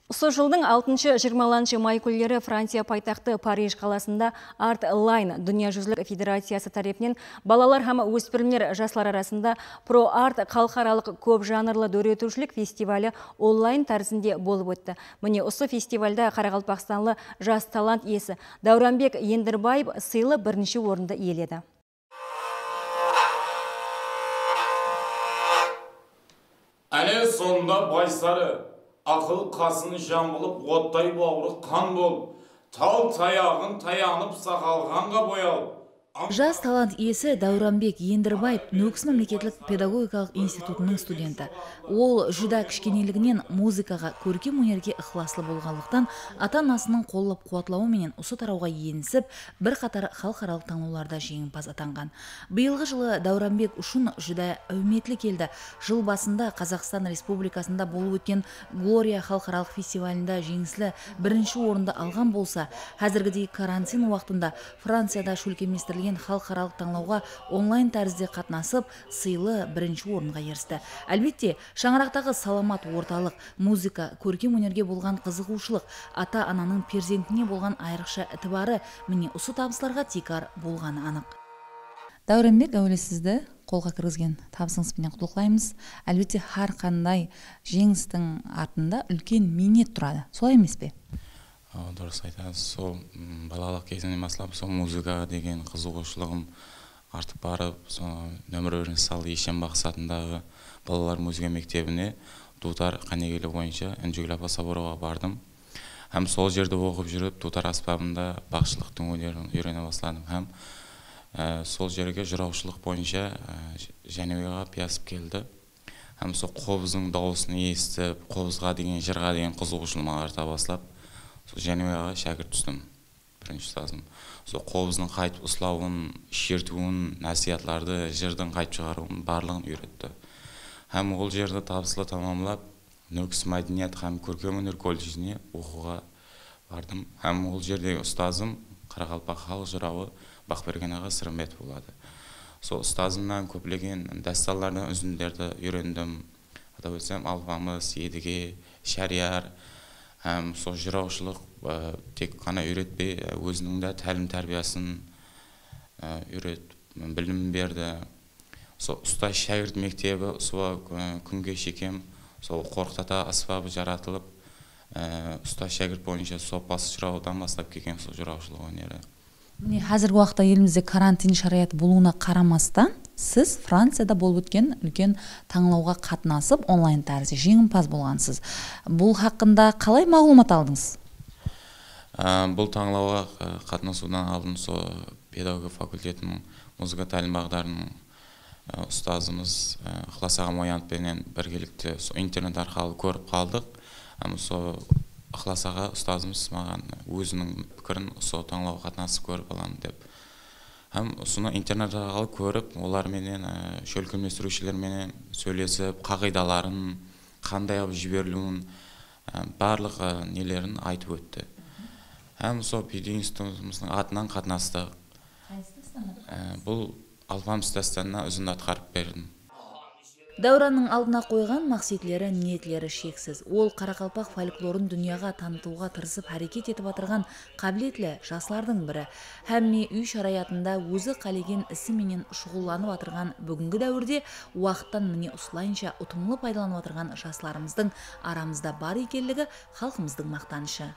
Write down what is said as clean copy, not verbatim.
Осы жылдың 6-20 май күндері Франция пайтақты Париж қаласында Art Line дүниежүзілік федерациясы тарапынан балалар һәм өспірімдер жастар арасында Pro Art халықаралық көп жанрлы дөретушілік фестивалі онлайн тәрізінде болып өтті. Міне осы фестивальда Қарақалпақстанлы жас талант иесі Дауранбек Ендірбаев сыйлы бірінші орынды иеледі. Әне сонда байсары, ақыл қасын жамылып, оттай бауыры қан болып, тал таяғын таянып сақалғанға боялып. Жас талант иесі Дауранбек Ендірбаев Нөкіс мемлекеттік педагогикалық институтының студенті. Ол жүда кішкенелігінен музыкаға, көркем өнерге ықыласлы болғандықтан ата-анасының қолдап қуатлауыменен осы тарауға енісіп, бір қатар халықаралық танылуларда жеңімпаз атанған. Биылғы жылы Дауранбек үшін жүда әуметлі келді. Жыл басында Қазақстан Республикасында болып өткен Глория халықаралық фестивалінде жеңіслі бірінші орынды алған болса, қазіргідей карантин уақытында Францияда шөлкеместірілген халықаралық таңлауға онлайн тәрізде қатынасып, сыйлы бірінші орынға ерісті. Әлбетте, шаңырақтағы саламат орталық, музыка, көркем өнерге болған қызығушылық, ата-ананың перзентіне болған айрықша ітібары міне осы табыстарға текар болғаны анық. Дауранбек, әуелі сізді қолға кіргізген табысыңызбен құттықтаймыз. Әлбетте, har қандай жеңістің артында үлкен минет тұрады. Солай емес пе? Дұрыс айтасыз. Сол балалық кезінен бастап сол музыкаға деген қызығушылығым артып барып, нөмір 1 сал Ешен мақсатындағы балалар музыка мектебіне Дутар Қанегелі бойынша Үнжігіл апа соборуға бардым. Һәм сол жерде оқып жүріп, Дутар аспабында бақшылықтың өнерін үйрене бастадым. Һәм сол жерге жыраушылық бойынша Жәнібекға пиясып келді. Һәм сол қобыздың дауысын естіп, қобызға деген, жырға деген қызығушылығым арта бастап, сол Жәнібекға шәкірт түстім, бірінші ұстазым. Сол қобыздың қайтып ұслауын, шертуін, насихатларды, жырдың қайтып шығаруын барлығын үйретті. Һәм ол жерді табысылы тамамлап, Нөкіс мәдениет һәм көркем өнер колледжіне оқуға бардым. Һәм ол жердегі ұстазым Қарақалпақ халық жырауы Бақберген аға Сырымбетов болады. Сол ұстазымнан көптеген дасталардан үзінділерді үйрендім. Атап өтсем, алпамыс, едіге, шәрияр. Һәм сол жыраушылық тек қана үйретпей, өзінің де тәлім тәрбиясын үйретіп, білім берді. Сол ұстаз шәкірт мектебі сол күнге шекем, сол қорқыт-ата аспабы жаратылып, ұстаз шәкірт бойынша сопасы жыраудан бастап келген сол жыраушылық өнері. Қазіргі уақытта елімізде карантин шараяты болуына қарамастан, сіз Францияда болып өткен үлкен таңлауға қатынасып, онлайн тәрізде жеңімпаз болғансыз. Бұл хақында қалай мағлұмат алдыңыз? Бұл таңлауға қатынасудан алдын сол педагогика факультетінің музыка тәлім бағдарының ұстазымыз Ықылас аға Моянтпенен біргелікте интернет арқылы көріп қалдық. Сол Ықылас аға ұстазымыз маған өзінің пікірін сол таңлауға қатынасып көріп аламын деп. Һәм соны интернет арқылы көріп, оларменен шөлкеместірушілерменен сөйлесіп, қағидаларын, қандай жіберілуін, барлық нелерін айтып өтті. Һәм сол педагогистіміздің атынан қатынастық. Бұл Алпамыс дастанына үзінді атқарып бердім. Дауранның алдына қойған мақсетлері, ниетлері шексіз. Ол Қарақалпақ фольклорын дүнияға танытуға тырысып әрекет етіп атырған қабілетлі жастардың бірі. Һәмме үй шараятында өзі қалеген ісіменен шұғылланып атырған бүгінгі дәуірде уақыттан міне осылайынша ұтымлы пайдаланып атырған жастарымыздың арамызда бар екенлігі халқымыздың мақтанышы.